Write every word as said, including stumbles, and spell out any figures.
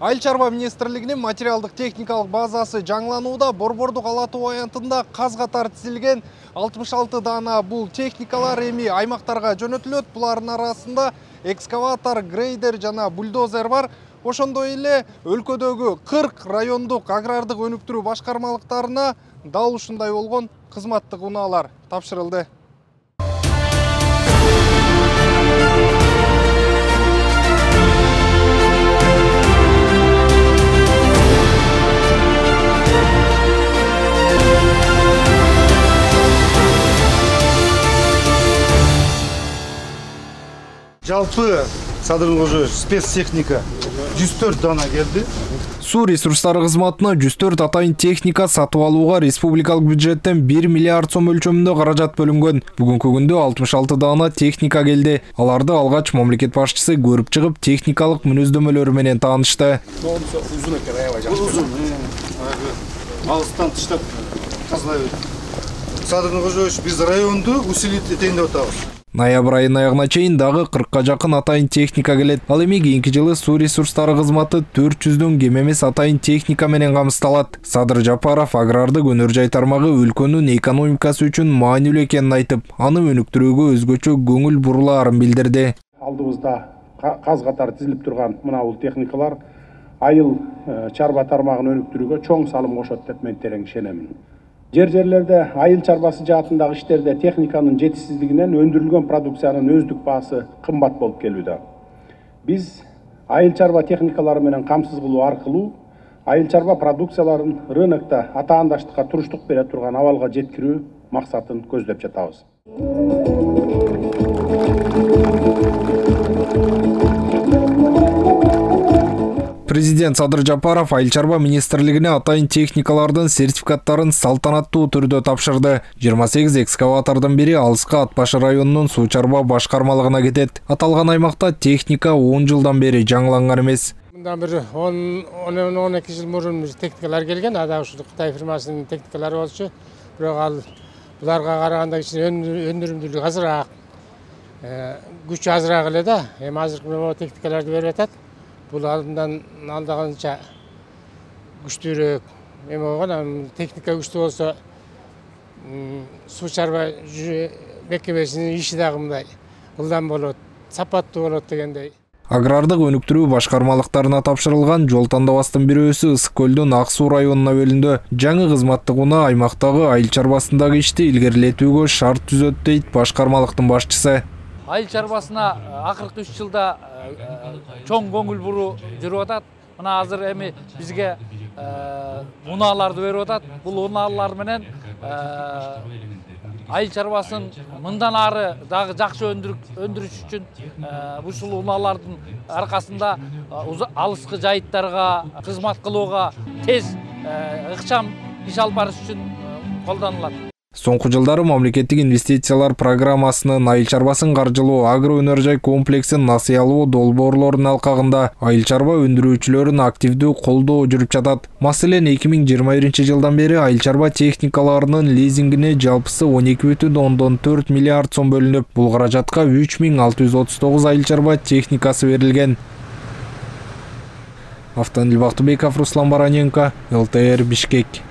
Айыл чарба министрлигинин материалдык техникалык базасы жаңыланууда. Борбордук Ала Тоо аянтында каз катар тизилген алтымыш алты даана бул техникалар эми аймактарга жөнөтүлөт. Булардын арасында экскаватор, грейдер жана бульдозер бар. Ошондой эле өлкөдөгү кырк райондук агрардык өнүктүрүү башкармалыктарына дал ушундай болгон кызматтык унаалар тапшырылды. Жалпы Садыр Кожоевич спецтехника жүз төрт дана келди. Суу ресурстары кызматына жүз төрт атайын техника сатып алууга республикалык бюджеттен бир миллиард сом өлчөмүндө каражат бөлүнгөн. Бүгүнкү күндө алтымыш алты даана техника келди. Аларды алгач мамлекет башчысы көрүп чыгып, техникалык мүнөздөмөлөрү менен таанышты. Узун экен, аябай жакшы. Узун. Алыстан тыштап казнай. Садыр Кожоевич биз районду усилить этейин деп атабыз. Ноябрь айынын аягына чейин дагы кыркка жакын атайын техника келет. Ал эми кийинки жылы суу ресурстары кызматы төрт жүздөн кем эмес атайын техника менен камсыздалат. Садыр Жапаров агрардык өнөр жай тармагы өлкөнүн экономикасы үчүн маанилүү экенин айтып, аны өнүктүрүүгө өзгөчө көңүл бурулаарын билдирди. Алдыбызда каз катар тизилип турган мына бул техникалар айыл чарба тармагын өнүктүрүүгө чоң салым кошот деп мен терең ишенемин. Жер-жерлерде айыл чарбасы жаатындагы иштерде техниканын жетишсиздигинен өндүрүлгөн продукциянын өздүк баасы кымбат болуп келүүдө. Биз айыл чарба техникалары менен камсыз кылуу аркылуу айыл чарба продукцияларын рынокто атаандаштыкка туруштук бере турган абалга жеткирүү максатын көздөп жатабыз. Президент Садыр Жапаров айыл чарба министрлигине атайын техникалардын сертификаттарын салтанаттуу түрдө тапшырды. жыйырма сегиз экскаватордун бири Алыска Ат Башы районунун суу чарба башкармалыгына кетет. Аталган аймакта техника он жылдан бери жаңыланган эмес. Мындан бир он эки жыл мурун техникалар келген, ада ушул Кытай фирмасынын техникалары болчу. Бирок ал буларга караганда кичине өндүрүмдүүлүгү азыраак, күчү азыраак эле да. Эми азыркы техникаларды берип атат. Бул алдынан алдаганча күчтүүрөөк. Эми болгон техника күчтүү болсо суу чарба мекемесинин иши дагы мындай ылдам болот, сапаттуу болот дегендей. Агрардык өнүктүрүү башкармалыктарына тапшырылган жол тандабастын бирөөсү Ысык көлдүн Ак Суу районуна бөлүндү. Жаңы кызматтык унаа аймактагы айыл чарбасындагы ишти илгерилетүүгө шарт түзөт дейт башкармалыктын башчысы. Айыл чарбасына акыркы үч жылда чоң көңүл буруу жүрүп атат. Мына азыр эми бизге унааларды берип атат. Бул унаалар менен айыл чарбасын мындан ары дагы жакшы өндүрүш үчүн ушул унаалардын аркасында алыскы жайыттарга кызмат кылууга тез ыкчам иш алып барыш үчүн колдонулат. Соңку жылдары мамлекеттик инвестициялар программасынын айыл чарбасын каржылоо агро өнөр жай комплексин насыялоо долбоорлорунун алкагында айыл чарба өндүрүүчүлөрүн активдүү колдоо жүрүп жатат. Маселен, эки миң жыйырма биринчи жылдан бери айыл чарба техникаларынын лизингине жалпысы он эки бүтүн ондон төрт миллиард сом бөлүнүп, бул каражатка үч миң алты жүз отуз тогуз айыл чарба техникасы берилген. Автоанил Бактыбеков, Руслан Бараненко, эл тэ эр, Бишкек.